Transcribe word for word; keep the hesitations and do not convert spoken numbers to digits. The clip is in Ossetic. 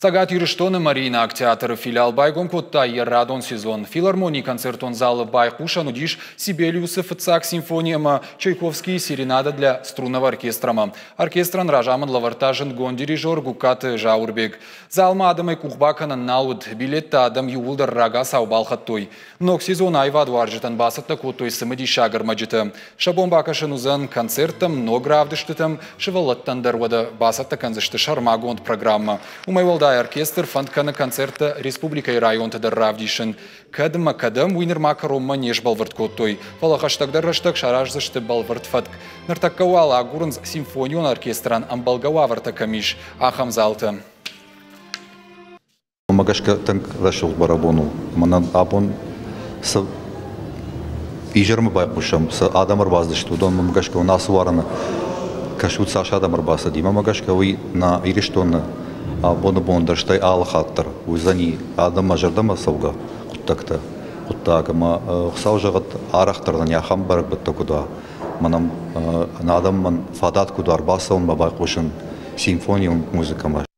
Цӕгат Ирыстоны Мариинаг театры филиал байгом кодта йӕ радон сезон. Филармонийы концертон залы байхъусӕн уыдис Сибелиусы фыццаг симфони ӕмӕ Чайковскийы серенада для струнного оркестрамӕ. Оркестрӕн разамынд лӕвӕрдта зындгонд дирижер Гугкаты Зауырбег. Залмӕ адӕмӕй къух бакӕнӕн нал уыд, билеттӕ адӕм иууылдӕр рагацау балхӕдтой. Ног сезон аивадуарзджытӕн бацӕттӕ кодтой цымыдисаг ӕрмӕджытӕ. Сӕ бон бакӕсын уыдзӕн концерттӕм, ног равдыстытӕм, сывӕллӕттӕн дӕр уӕдӕ бацӕттӕ кӕндзысты сӕрмагонд программӕ. Уымӕй уӕлдай оркестр фӕнд кӕны концерттӕ республикӕйы районты дӕр равдисын. Кӕд ӕмӕ кӕдӕм, уый нырма кӕронмӕ не сбӕлвырд кодтой, фӕлӕ хӕстӕгдӕр рӕстӕг сараздзысты бӕлвырд фӕтк. Ныртӕккӕ уал агурынц симфонион оркестрӕн ӕмбӕлгӕ уавӕртӕ кӕм ис, ахӕм залтӕ. Уымӕ гӕсгӕ тынг рӕсугъд бӕрӕгбон у. Мӕнӕн абон цы изӕрмӕ байхъусӕм, цы адӕм ӕрбацыдысты, уыдонмӕ гӕсгӕ уын ацы уарыны кӕсут, цас адӕм ӕрбацыди. Мӕнмӕ гӕсгӕ уый нӕ Ирыстоны абоны бон дӕр, стӕй алы хатт дӕр уыдзӕни адӕммӕ зӕрдӕмӕ цӕугӕ хъуыддӕгтӕ, хъуыддаг. Ӕмӕ Хуыцау зӕгъӕд, арӕхдӕр нын ахӕм бӕрӕгбӕттӕ куыд уа, мӕнӕн адӕмӕн фадат куыд уа ӕрбацӕуынмӕ байхъусын симфонион музыкӕмӕ.